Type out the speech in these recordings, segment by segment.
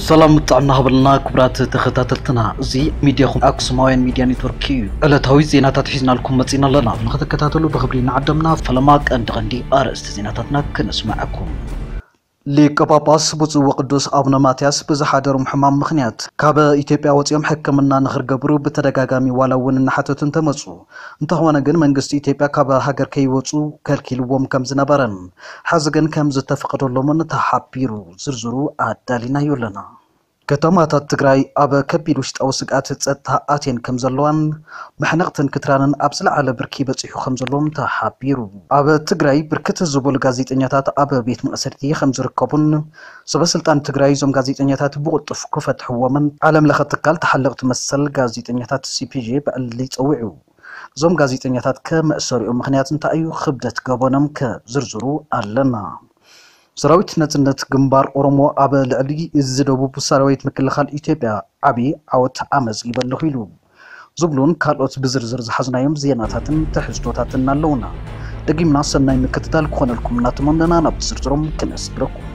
ሰላም ጥዕና ሃበልና ክቡራት ተኸታተልትና፣ እዚ ሚድያኹም ኣክሱማውያን ሚድያ ኔትወርክ እዩ። ዕለታዊ ዜናታት ሒዝናልኩም መጺና ኣለና፣ ንኽትከታተሉ ብኽብሪ ንዓደምና። ፈለማ ቀንዲ ቀንዲ ኣርእስቲ ዜናታትና ክነስምዐኩም። ሊቀ ጳጳስ ብፁዕ ወቅዱስ ኣቡነ ማትያስ ብዝሓደሮም ሕማም ምኽንያት ካብ ኢትዮጵያ ወፂኦም ሕክምና ንኽርገብሩ ብተደጋጋሚ ዋላ እውን እናሓተቱ እንተመፁ፣ እንተኾነ ግን መንግስቲ ኢትዮጵያ ካብ ሃገር ከይወፁ ከልኪልዎም ከም ዝነበረን ሕዚ ግን ከም ዝተፈቐደሎምን ተሓቢሩ። ዝርዝሩ ኣዳሊናዮ ኣለና። ከተማታት ትግራይ ኣብ ከቢድ ውሽጣዊ ስግኣት ጸጥታ ኣትየን ከም ዘለዋን መሕነቕትን ክትራንን ኣብ ዝለዓለ ብርኪ በጺሑ ከም ዘለዎም ተሓቢሩ። ኣብ ትግራይ ብርክት ዝበሉ ጋዜጠኛታት ኣብ ቤት ማእሰርቲ ከም ዝርከቡን ሰበ ስልጣን ትግራይ እዞም ጋዜጠኛታት ብቕልጡፍ ክፈትሕዎምን ዓለም ለኸ ትካል ተሓለቕቲ መሰል ጋዜጠኛታት ሲ ፒ ጄ ብዕሊ ጸዊዑ። እዞም ጋዜጠኛታት ከመእሰሪኦም ምኽንያት እንታይ እዩ? ክብደት ገበኖም ከዝርዝሩ ኣለና። ሰራዊት ናጽነት ግንባር ኦሮሞ ኣብ ልዕሊ እዚ ደቡብ ሰራዊት ምክልኻል ኢትዮጵያ ዓቢ ዓወት ኣመዝጊበ ኣለኹ ኢሉ ዝብሉን ካልኦት ብዝርዝር ዝሓዝናዮም ዜናታትን ትሕዝቶታትን ኣለውና። ደጊምና ሰናይ ምክትታል ክኾነልኩም እናተመነና ናብ ዝርዝሮም ክነስግረኩም።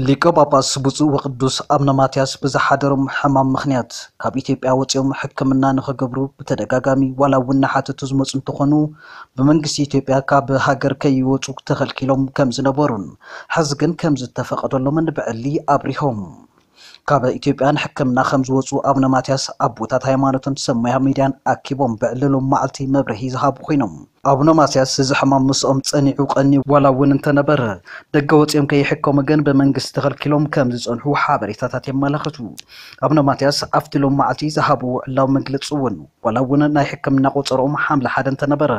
ሊቀ ጳጳስ ብፁዕ ወቅዱስ ኣቡነ ማትያስ ብዝሓደሮም ሕማም ምኽንያት ካብ ኢትዮጵያ ወፂኦም ሕክምና ንኽገብሩ ብተደጋጋሚ ዋላ እውን እናሓተቱ ዝመፁ እንተኾኑ፣ ብመንግስቲ ኢትዮጵያ ካብ ሃገር ከይወፁ ተኸልኪሎም ከም ዝነበሩን ሕዚ ግን ከም ዝተፈቐደሎምን ብዕሊ ኣብሪሆም። ካብ ኢትዮጵያ ንሕክምና ከም ዝወፁ ኣቡነ ማትያስ ኣቦታት ሃይማኖትን ሰብ ሞያ ሚድያን ኣኪቦም ብዕሊ ሎም መዓልቲ መብርሂ ዝሃቡ ኮይኖም፣ ኣቡነ ማትያስ እዚ ሕማም ምስኦም ጸኒዑ ቀንዩ ዋላ እውን እንተነበረ፣ ደገ ወጺኦም ከይሕከሙ ግን ብመንግስቲ ተኸልኪሎም ከም ዝጸንሑ ሓበሬታታት የመላኽቱ። ኣቡነ ማትያስ ኣብቲ ሎም መዓልቲ ዝሃብዎ ዕላዊ መግለጺ እውን፣ ዋላ እውን ናይ ሕክምና ቆጸሮኦም ሓምለ ሓደ እንተነበረ፣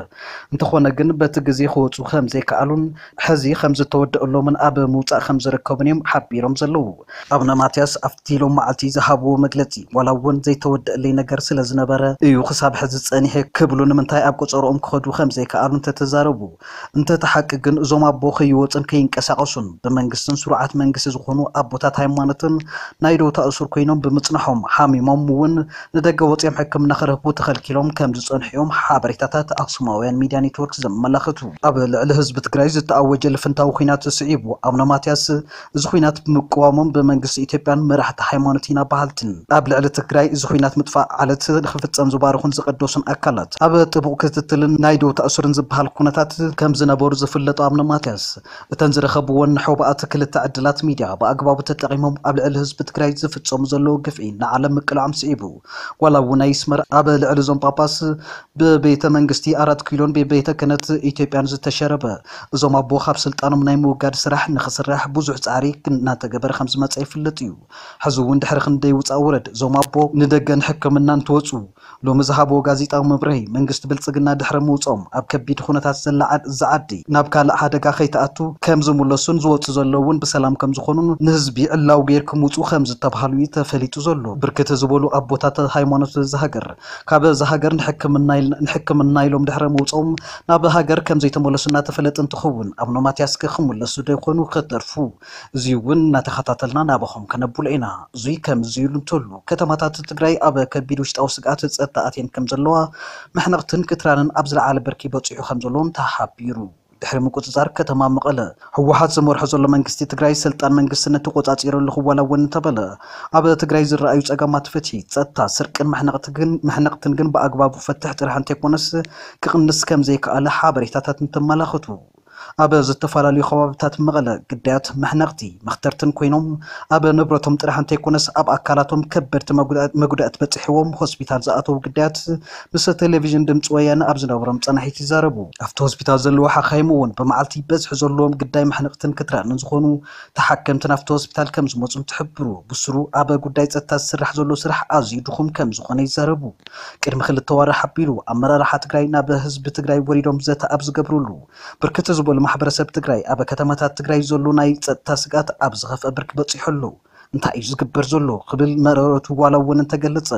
እንተኾነ ግን በቲ ግዜ ክወጹ ከም ዘይከኣሉን ሕዚ ከም ዝተወደአሎምን ኣብ ምውጻእ ከም ዝርከቡን እዮም ሓቢሮም ዘለዉ። ኣቡነ ማትያስ ኣብቲ ሎም መዓልቲ ዝሃብዎ መግለጺ፣ ዋላ እውን ዘይተወደአለይ ነገር ስለ ዝነበረ እዩ ክሳብ ሕዚ ጸኒሐ ክብሉ፣ ንምንታይ ኣብ ቆጸርኦም ክኸዱ ከም ዘይከኣሉ እንተተዛረቡ፣ እንተ እቲ ሓቂ ግን እዞም ኣቦ ከይወጹን ከይንቀሳቐሱን ብመንግስትን ስሩዓት መንግስቲ ዝኾኑ ኣቦታት ሃይማኖትን ናይ ደውታ እሱር ኮይኖም ብምጽንሖም፣ ሓሚሞም እውን ንደገ ወጺኦም ሕክምና ክረኽቡ ተኸልኪሎም ከም ዝጸንሑ እዮም ሓበሬታታት ኣክሱማውያን ሚድያ ኔትወርክ ዘመላኽቱ። ኣብ ልዕሊ ህዝቢ ትግራይ ዝተኣወጀ ልፍንታዊ ኲናት ስዒቡ፣ ኣቡነ ማትያስ እዚ ኲናት ብምቅዋሞም ብመንግስቲ ኢትዮጵያን መራሕቲ ሃይማኖት ኢና በሃልትን ኣብ ልዕሊ ትግራይ እዚ ኲናት ምጥፋእ ዓለት ንክፍጸም ዝባረኹን ዝቀደሱን ኣካላት ኣብ ጥቡቕ ክትትልን ናይ ደውታ እሱርን ዝበሃል ኩነታት ከም ዝነበሩ ዝፍለጡ ኣቡነ ማትያስ፣ እተን ዝረኸብወን ንሖባኣት ክልተ ዕድላት ሚድያ ብኣግባቡ ተጠቒሞም ኣብ ልዕሊ ህዝቢ ትግራይ ዝፍጸሙ ዘለዉ ግፍዒ ንዓለም ምቅላዖም ስዒቡ፣ ዋላ እውን ኣይስመር ኣብ ልዕሊ እዞም ጳጳስ ብቤተ መንግስቲ ኣራት ኪሎን ብቤተ ክህነት ኢትዮጵያን ዝተሸረበ እዞም ኣቦ ካብ ስልጣኖም ናይ ምውጋድ ስራሕ ንክስራሕ ብዙሕ ጻዕሪ እናተገበረ ከም ዝመጸ ይፍለጥ እዩ። ሕዚ እውን ድሕሪ ክንደይ ውጻእ ውረድ እዞም ኣቦ ንደገ ንሕክምና እንትወጹ፣ ሎሚ ዝሃብዎ ጋዜጣዊ መብርሂ፣ መንግስቲ ብልጽግና ድሕሪ ምውጽኦም ኣብ ከቢድ ኩነታት ዘላ ዓድ-፣ እዛ ዓዲ ናብ ካልእ ሓደጋ ከይትኣቱ ከም ዝምለሱን ዝወጹ ዘለዉ እውን ብሰላም ከም ዝኾኑን ንህዝቢ ዕላዊ ገይርኩም ውጹ ከም ዝተባሃሉ እዩ ተፈሊጡ ዘሎ። ብርክት ዝበሉ ኣቦታት ሃይማኖት እዚ ሃገር ካብ እዛ ሃገር ንሕክምና ኢል-፣ ንሕክምና ኢሎም ድሕሪ ምውጽኦም ናብ ሃገር ከም ዘይተመለሱ እናተፈለጠ እንትኸውን፣ ኣቡነ ማትያስ ከ ክምለሱ ዶ ይኾኑ ከተርፉ? እዚ እውን እናተኸታተልና ናባኹም ከነብሎ ኢና። እዙይ ከምዚ ኢሉ እንተሉ፣ ከተማታት ትግራይ ኣብ ከቢድ ውሽጣዊ ስግኣት ጸጥታ ኣትየን ከም ዘለዋ፣ መሕነቕትን ክትራንን ኣብ ዝለዓለ ብርኪ በጺሑ ከም ዘለውን ተሓቢሩ። ድሕሪ ምቁጽጻር ከተማ መቐለ፣ ህወሓት ዝመርሖ ዘሎ መንግስቲ ትግራይ ስልጣን መንግስትነት ተቆጻጺረ ኣለኹ ዋላ እውን እንተበለ፣ ኣብ ትግራይ ዝረኣዩ ጸገማት ፍትሒ፣ ጸጥታ፣ ስርቅን መሕነቕቲ ግን-፣ መሕነቕትን ግን ብኣግባቡ ፈትሕ ጥራሕ እንተይኮነስ ክቕንስ ከም ዘይከኣለ ሓበሬታታት እንተመላኽቱ። ኣብ ዝተፈላለዩ ከባቢታት መቐለ ግዳያት መሕነቕቲ መኽተርትን ኮይኖም፣ ኣብ ንብረቶም ጥራሕ እንተይኮነስ ኣብ ኣካላቶም ከበድቲ መጉዳ-፣ መጉዳእቲ በፂሕዎም ሆስፒታል ዝኣተዉ ግዳያት ምስ ቴሌቪዥን ድምፂ ወያነ ኣብ ዝነበሮም ፃንሒት ይዛረቡ። ኣብቲ ሆስፒታል ዘለዉ ሓኻይም እውን ብመዓልቲ በዝሒ ዘለዎም ግዳይ መሕነቕትን ክትራንን ዝኾኑ ተሓከምቲ ናብቲ ሆስፒታል ከም ዝመፁ እንትሕብሩ፣ ብስሩ ኣብ ጉዳይ ፀጥታ ዝስራሕ ዘሎ ስራሕ ኣዝዩ ድኹም ከም ዝኾነ ይዛረቡ። ቅድሚ ክልተ ዋርሕ ኣቢሉ ኣመራርሓ ትግራይ ናብ ህዝቢ ትግራይ ወሪዶም ዘተ ኣብ ዝገብርሉ፣ ብርክት ዝበሉ ማሕበረሰብ ትግራይ ኣብ ከተማታት ትግራይ ዘሎ ናይ ፀጥታ ስግኣት ኣብ ዝኸፍአ ብርኪ በፂሑ ኣሎ። እንታይ እዩ ዝግበር ዘሎ ክብል መረረቱ ዋላ እውን እንተገለጸ፣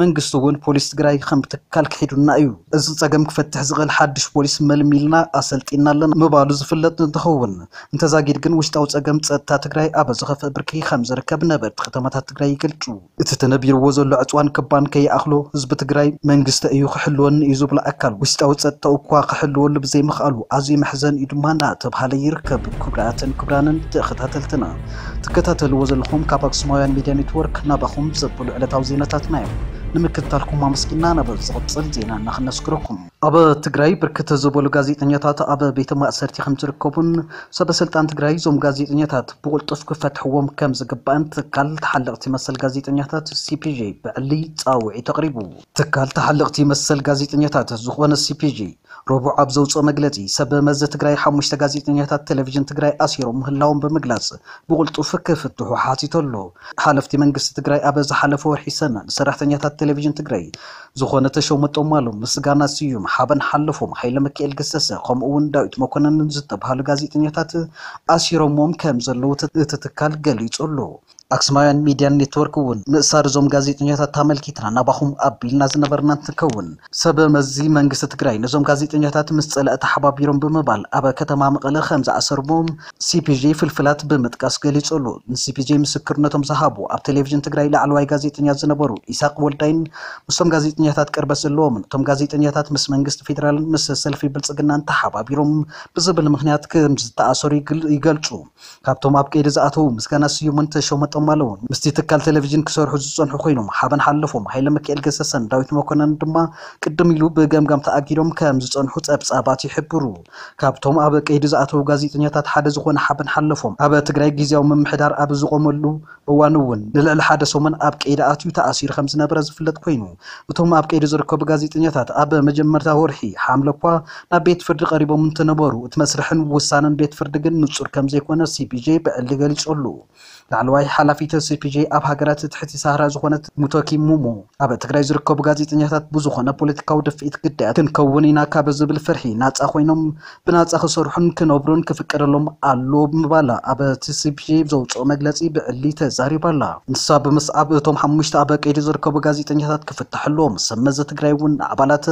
መንግስቲ እውን ፖሊስ ትግራይ ከም ትካል ክሒዱና እዩ። እዚ ጸገም ክፈትሕ ዝኽእል ሓድሽ ፖሊስ መልሚልና ኣሰልጢና ኣለና ምባሉ ዝፍለጥ እንትኸውን፣ እንተዛጊድ ግን ውሽጣዊ ጸገም ጸጥታ ትግራይ ኣብ ዝኸፍአ ብርኪ ከም ዝርከብ ነበርቲ ከተማታት ትግራይ ይገልጹ። እቲ ተነቢርዎ ዘሎ ዕፅዋን ክባን ከይኣኽሎ ህዝቢ ትግራይ መንግስቲ እዩ ክሕልወኒ እዩ ዝብሎ ኣካል ውሽጣዊ ጸጥታኡ እኳ ክሕልወሉ ብዘይምኽኣሉ ኣዝዩ መሕዘኒ እዩ ድማ እናተብሃለ ይርከብ። ክቡራትን ክቡራንን ተኸታተልትና፣ ትከታተልዎ ዘለኹም ካብ ኣክሱማውያን ሚድያ ኔትወርክ ናባኹም ዘብሉ ዕለታዊ ዜናታትና እዮም። ንምክትታልኩም ኣመስጊና ናብ ዝቕጽል ዜና እናኽነስግረኩም። ኣብ ትግራይ ብርክት ዝበሉ ጋዜጠኛታት ኣብ ቤተ ማእሰርቲ ከም ዝርከቡን ሰበ ስልጣን ትግራይ እዞም ጋዜጠኛታት ብቕልጡፍ ክፈትሕዎም ከም ዝግባእን ትካል ተሓለቕቲ መሰል ጋዜጠኛታት ሲፒጄ ብዕሊ ጻውዒት ኣቕሪቡ። ትካል ተሓለቕቲ መሰል ጋዜጠኛታት ዝኾነ ሲፒጄ ረቡዕ ኣብ ዘውፅኦ መግለፂ ሰብ መዚ ትግራይ ሓሙሽተ ጋዜጠኛታት ቴሌቪዥን ትግራይ ኣሲሮም ምህላዎም ብምግላፅ ብቕልጡፍ ክፍትሑ ሓቲቱ ኣሎ። ሓለፍቲ መንግስቲ ትግራይ ኣብ ዝሓለፈ ወርሒ ሰነ ንሰራሕተኛታት ቴሌቪዥን ትግራይ ዝኾነ ተሾመ ጦማሎም፣ ምስጋና ስዩም፣ ሓበን ሓለፎም፣ ሃይለ ሚካኤል ገሰሰ ከምኡ እውን ዳዊት መኮነንን ዝተባሃሉ ጋዜጠኛታት ኣሲሮሞም ከም ዘለዉ እቲ ትካል ገሊጹ ኣሎ። ኣክሱማውያን ሚድያን ኔትወርክ እውን ምእሳር እዞም ጋዜጠኛታት ተመልኪትና ናባኹም ኣቢልና ዝነበርና እንትከውን፣ ሰብ መዚ መንግስቲ ትግራይ ነዞም ጋዜጠኛታት ምስ ጸላኢ ተሓባቢሮም ብምባል ኣብ ከተማ መቐለ ከም ዝኣሰርዎም ሲፒጄ ፍልፍላት ብምጥቃስ ገሊጹ ኣሎ። ንሲፒጄ ምስክርነቶም ዝሃቡ ኣብ ቴሌቪዥን ትግራይ ላዕለዋይ ጋዜጠኛ ዝነበሩ ኢሳቅ ወልዳይን ምስቶም ጋዜጠኛታት ቅርበት ዘለዎምን እቶም ጋዜጠኛታት ምስ መንግስቲ ፌዴራልን ምስ ሰልፊ ብልጽግናን ተሓባቢሮም ብዝብል ምኽንያት ከም ዝተኣሰሩ ይግል-፣ ይገልጹ። ካብቶም ኣብ ቀይዲ ዝኣተዉ ምስጋና ስዩምን ተሾመ ጠማለውን ምስቲ ትካል ቴሌቪዥን ክሰርሑ ዝጸንሑ ኮይኖም፣ ሓበን ሓለፎም፣ ሃይለ ሚካኤል ገሰሰን ዳዊት መኮነን ድማ ቅድም ኢሉ ብገምጋም ተኣጊዶም ከም ዝጸንሑ ጸብጻባት ይሕብሩ። ካብቶም ኣብ ቀይዲ ዝኣተዉ ጋዜጠኛታት ሓደ ዝኾነ ሓበን ሓለፎም፣ ኣብ ትግራይ ግዝያዊ ምምሕዳር ኣብ ዝቖመሉ እዋን እውን ንልዕሊ ሓደ ሰሙን ኣብ ቀይዲ ኣትዩ ተኣሲሩ ከም ዝነበረ ዝፍለጥ ኮይኑ፣ እቶም ኣብ ቀይዲ ዝርከቡ ጋዜጠኛታት ኣብ መጀመርታ ወርሒ ሓምለ እኳ ናብ ቤት ፍርዲ ቀሪቦም እንትነበሩ፣ እቲ መስርሕን ውሳነን ቤት ፍርዲ ግን ንጹር ከም ዘይኮነ ሲፒጄ ብዕሊ ገሊጹ ኣሎ። ላዕለዋይ ሓላፊት ሲፒጄ ኣብ ሃገራት ትሕቲ ሳህራ ዝኾነት ሙቶኪ ሙሞ፣ ኣብ ትግራይ ዝርከቡ ጋዜጠኛታት ብዝኾነ ፖለቲካዊ ድፍኢት ግዳያት ክንከውን ኢና ካብ ዝብል ፍርሒ ናጻ ኮይኖም ብናጻ ክሰርሑን ክነብሩን ክፍቀደሎም ኣሎ ብምባል ኣብቲ ሲፒጄ ዘውፅኦ መግለፂ ብዕሊ ተዛሪባ ኣላ። ንሳ ብምስዓብ እቶም ሓሙሽተ ኣብ ቀይዲ ዝርከቡ ጋዜጠኛታት ክፍትሑ ኣለዎም። ሰብ መዚ ትግራይ እውን ኣባላት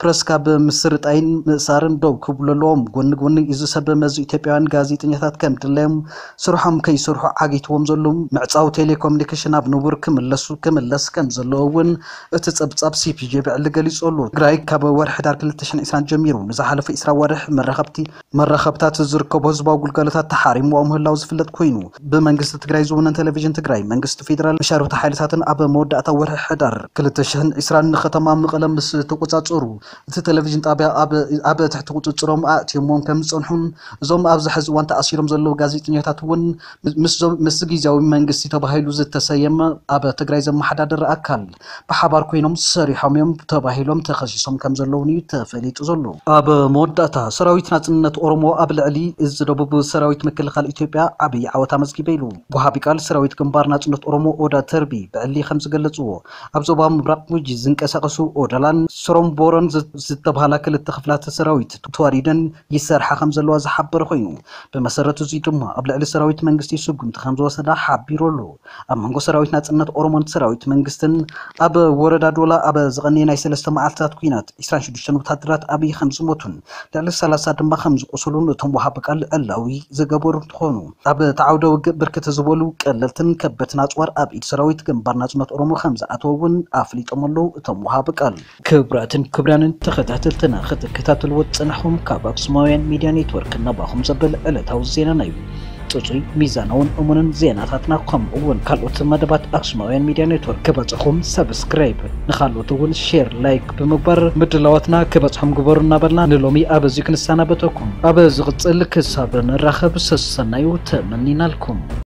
ፕረስ ካብ ምስርጣይን ምእሳርን ደው ክብሉ ኣለዎም። ጎኒ ጎኒ እዚ ሰብ መዚ ኢትዮጵያውያን ጋዜጠኛታት ከም ድላዮም ስርሖም ከይሰርሑ ዓጊትዎም ዘሎ ምዕፃው ቴሌኮሙኒኬሽን ኣብ ንቡር ክምለሱ ክምለስ ከም ዘለዎ እውን እቲ ጸብጻብ ሲፒጄ ብዕሊ ገሊጹ ኣሎ። ትግራይ ካብ ወርሒ ሕዳር ክልተ ሽሕን ዕስራን ጀሚሩ ንዝሓለፈ ዕስራ ወርሒ መራኸብቲ መራኸብታት ዝርከቦ ህዝባዊ ግልጋሎታት ተሓሪምዎ ምህላው ዝፍለጥ ኮይኑ፣ ብመንግስቲ ትግራይ ዝውነን ቴሌቪዥን ትግራይ መንግስቲ ፌዴራል መሻርክቲ ሓይልታትን ኣብ መወዳእታ ወርሒ ሕዳር ክልተ ሽሕን ዕስራን ንከተማ መቐለ ምስ ተቆጻጸሩ፣ እቲ ቴሌቪዥን ጣብያ ኣብ፣ ኣብ ትሕቲ ቁጽጽሮም ኣእትዮምዎም ከም ዝጸንሑን፣ እዞም ኣብዚ ሕዚ እዋን ተኣሲሮም ዘለዉ ጋዜጠኛታት እውን ምስ፣ ምስዚ ግዝያዊ መንግስቲ ተባሂሉ ዝተሰየመ ኣብ ትግራይ ዘመሓዳድር ኣካል ብሓባር ኮይኖም ሰሪሖም እዮም ተባሂሎም ተኸሲሶም ከም ዘለውን እዩ ተፈሊጡ ዘሎ። ኣብ መወዳእታ፣ ሰራዊት ናጽነት ኦሮሞ ኣብ ልዕሊ እዚ ደቡብ ሰራዊት ምክልኻል ኢትዮጵያ ዓብዪ ዓወት ኣመዝጊበ ኢሉ። ወሃቢ ቃል ሰራዊት ግንባር ናጽነት ኦሮሞ ኦዳ ተርቢ ብዕሊ ከም ዝገለጽዎ፣ ኣብ ዞባ ምብራቕ ጉጂ ዝንቀሳቐሱ ኦዳላን ስሮምቦሮን ዝ-፣ ዝተባሃላ ክልተ ክፍላት ሰራዊት ተዋዲደን ይሰርሓ ከም ዘለዋ ዝሓበረ ኮይኑ፣ ብመሰረት እዚ ድማ ኣብ ልዕሊ ሰራዊት መንግስቲ ስጉምቲ ከም ዝወሰዳ ሓቢሩ ኣሎ። ኣብ መንጎ ሰራዊት ናጽነት ኦሮሞን ሰራዊት መንግስትን ኣብ ወረዳ ዶላ ኣብ ዝቐነየ ናይ ሰለስተ መዓልትታት ኲናት ዕስራን ሽዱሽተን ወታደራት ኣብይ ከም ዝሞቱን ልዕሊ ሰላሳ ድማ ከም ዝቆሰሉን እቶም ወሃቢ ቃል ዕላዊ ዝገበሩ እንትኾኑ፣ ኣብ እቲ ዓውደ ውግእ ብርክት ዝበሉ ቀለልትን ከበድትን ኣጽዋር ኣብ ኢድ ሰራዊት ግንባር ናጽነት ኦሮሞ ከም ዝኣተወ እውን ኣፍሊጦም ኣለዉ እቶም ወሃቢ ቃል። ክቡራትን ክቡራንን ተኸታተልትና፣ ክትከታተልዎ ዝጸናሕኩም ካብ ኣክሱማውያን ሚድያ ኔትወርክ ናባኹም ዘብል ዕለታዊ ዜናና እዩ። ጽጹይ፣ ሚዛናውን እሙንን ዜናታትና ከምኡ እውን ካልኦት መደባት ኣክሱማውያን ሚድያ ኔትወርክ ክበጽሑኹም ሰብስክራይብ፣ ንኻልኦት እውን ሼር፣ ላይክ ብምግባር ምድላዋትና ክበጽሖም ግበሩ እናበልና ንሎሚ ኣብ እዚ ክንሰናበተኩም። ኣብ ዝቕጽል ክሳብ ንራኸብ ሰሰናዩ ተመኒናልኩም።